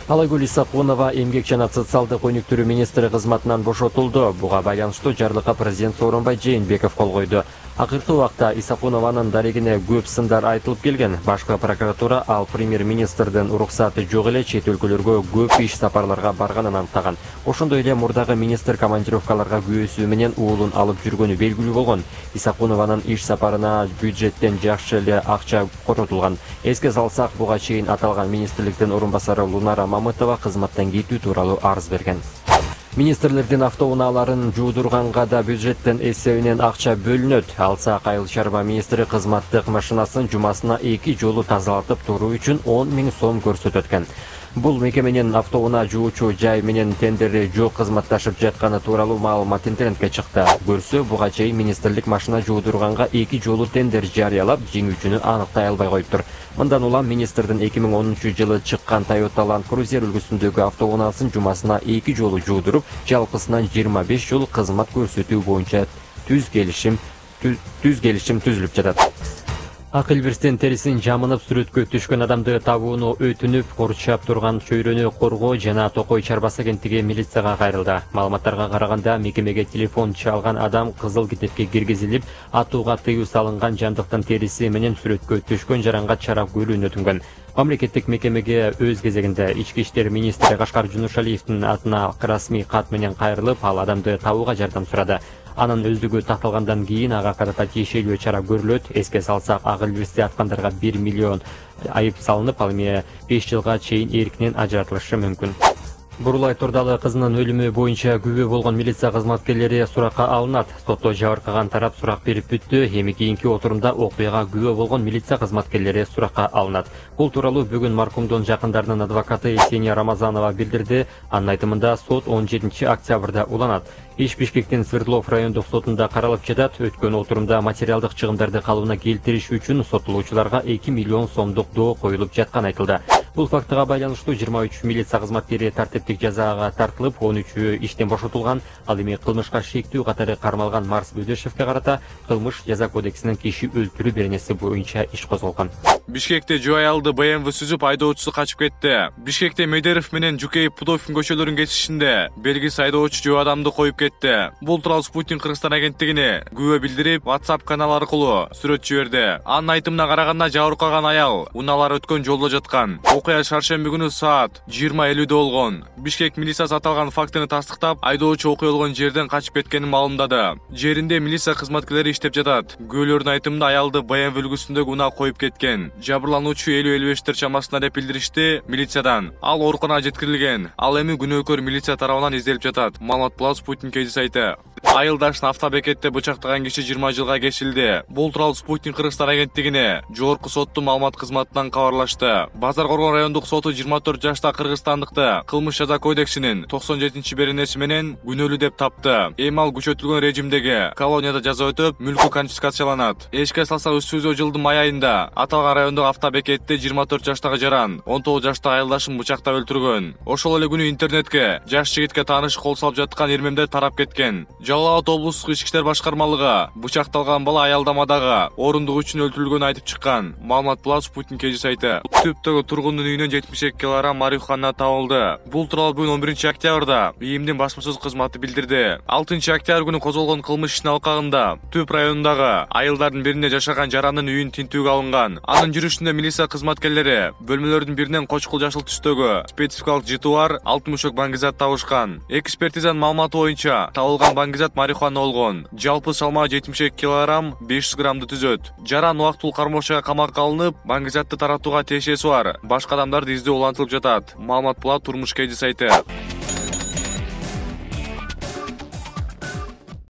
Алагүл Исакунова эмгек жана социалдык өнүктүрүү министри кызматынан бошотулду. Буга байланыштуу жарлыкка президент Сооронбай Жээнбеков кол койду. Акыркы убакта Исакунованын дарегине көп сындар айтылып келген. Башкы прокуратура ал премьер-министрдин уруксаты жок эле чет өлкөлөргө көп иш сапарларга барганын аныктаган. Ошондой эле мурдагы министр командировкаларга күйөөсү менен уулун алып жүргөнү белгилүү болгон. Исакунованын иш сапарына бюджеттен жакшы эле акча коротулган. Эске салсак, буга чейин аталган министрликтин орун басары Лунара Мамытова кызматтан кетүү тууралуу арыз берген. Министрлердин автоунааларын жуудурганга да бюджеттен эсебинен акча бөлүнөт. Алсак Айыл чарба министри кызматтык машинасын жумасына 2 жолу тазалатып туруу үчүн 10 000 сом көрсөтөт экен. Бул мекеменин автоунаа жуучу жай менен тендери жок кызматташып жатканы тууралуу маалымат интернетке чыкты. Көрсө, буга чейин министрлик машина жуудурганга 2 жолу тендер жарыялап, жеңүүчүнү аныктай албай коюптур. Мындан улам министрдин 2010-жылы чыккан Toyota Land Cruiser үлгүсүндөгү автоунаасын жумасына 2 жолу жуудуруп, жалпысынан 25 жол кызмат көрсөтүү боюнча түз келишим түзүлүп жатат. Ак элбирстин терисин жамынып сүрөткө түшкөн адамды табууну өтүнүп, курчап турган чөйрөнү коргоо жана Токой чарбасы кенттиги милицияга кайрылды. Маалыматтарга караганда, мекемеге телефон чалган адам кызыл китепке киргизилип, атууга тыюу салынган жандыктын териси менен сүрөткө түшкөн жаранга чарап көрүүнү өтүнгөн. Мамлекеттик мекемеге өз кезегинде Ички иштер министри Кашкар Жунушалиевдин атына расмий кат менен кайрылып, ал адамды табууга жардам сурады. Анын өздүгү такталгандан кийин ага карата тиешелүү чара көрүлөт. Эске салсак, ак элбирсти аткандарга 1 миллион айып салынып, ал эми 5 жылга чейин эркинен ажыратылышы мүмкүн. Бурулай Турдалы кызынын өлүмү боюнча күбө болгон милиция кызматкерлери суракка алынат. Сотто жабыркаган тарап сурак берип бүттү. Эми кийинки отурумда окуяга күбө болгон милиция кызматкерлери суракка алынат. Бул тууралуу бүгүн маркумдун жакындарынын адвокаты Есения Рамазанова билдирди. Анын айтымында сот 17 октябрда уланат. Иш Бишкектин Свердлов райондук сотунда каралып жатат. Өткөн отурумда материалдык чыгымдарды калыбына келтириш үчүн соттолуучуларга 2 миллион сомдук доо коюлуп жатканы айтылды. Бул фактыга байланыштуу 23 милиция кызматкери тартиптик жазага тартылып, 13-ü иштен бошотулган. Ал эми кылмышка шектүү катары кармалган Марс Бөдөшевке карата кылмыш жаза кодексинин киши өлтүрүү беренеси боюнча иш козголгон. Бишкекте жөө аялды BMW сүзүп айдоочусу качып кетти. Бишкекте Медеров менен Жукеев Пудовкин көчөлөрүнүн кесишинде белгисиз айдоочу жөө адамды коюп кетти. Бул тууралуу Спутник Кыргызстан агенттигине күбө билдирип, WhatsApp канал аркылуу сүрөт жиберди. Анын айтымына караганда, жабыркаган аял унаалар өткөн жолдо жаткан. Окуя шаршемби күнү саат 20:50 болгон. Бишкек милициясы аталган фактыны тастыктап, айдоочу окуя болгон жерден качып кеткенин маалымдады. Жеринде милиция кызматкерлери иштеп жатат. Күбөлөрдүн айтымында, аялды BMW үлгүсүндөгү унаа коюп кеткен. Жабырлануучу 50-55 чамасында деп билдиришти милициядан. Ал ооруканага жеткирилген. Ал эми күнөөкөр милиция тарабынан изделип жатат. Маалымат Плюс Спутник сайты. Айылдашын автобекетте бычактаган киши 20 жылга кесилди. Бул тууралуу Спутник Кыргызстан агенттигине жогорку соттун маалымат кызматынан кабарлашты. Базар Коргон райондук соту 24 жаштагы кыргызстандыкты кылмыш жаза кодексинин 97-беренеси менен күнөөлүү деп тапты. Эми ал күчөтүлгөн режимдеги колонияда жаза өтөп, мүлкү конфискацияланат. Эске салсак, өтүүсү жылдын май айында аталган райондук автобекетте 24 жаштагы жаран 19 жаштагы айылдашын бычактап өлтүргөн. Ошол эле күнү интернетке жаш жигитке тааныш кол салып жаткан эрмемдер тарап кеткен. Жалал Абад облустук ички иштер башкармалыгы бычакталган бала аялдамадагы орундук үчүн өлтүрүлгөнүн айтып чыккан. Маалымат Плюс Спутник сайты. Түптөгү тургундун үйүнөн 72 кг марихуана табылды. Бул тууралуу бүгүн 11 октябрда ИИМдин басма сөз кызматы билдирди. 6 октябрь күнү козголгон кылмыш ишинин алкагында Түп районундагы айылдардын биринде жашаган жарандын үйүн тинтүүгө алынган. Анын жүрүшүндө милиция кызматкерлери бөлмөлөрдүн биринен кочкул жашыл түстөгү спецификалык жыты бар алтын мушок баңгизат табышкан. Экспертизанын маалыматы боюнча табылган баңгизат марихуана болгон. Жалпы салмагы 72 кг 500 граммды түзөт. Жаран убактылуу кармоочага камакка алынып, баңгизатты таратууга тиешеси бар. Башка адамдарды издөө улантылып жатат. Маалымат Плат турмуш сайты.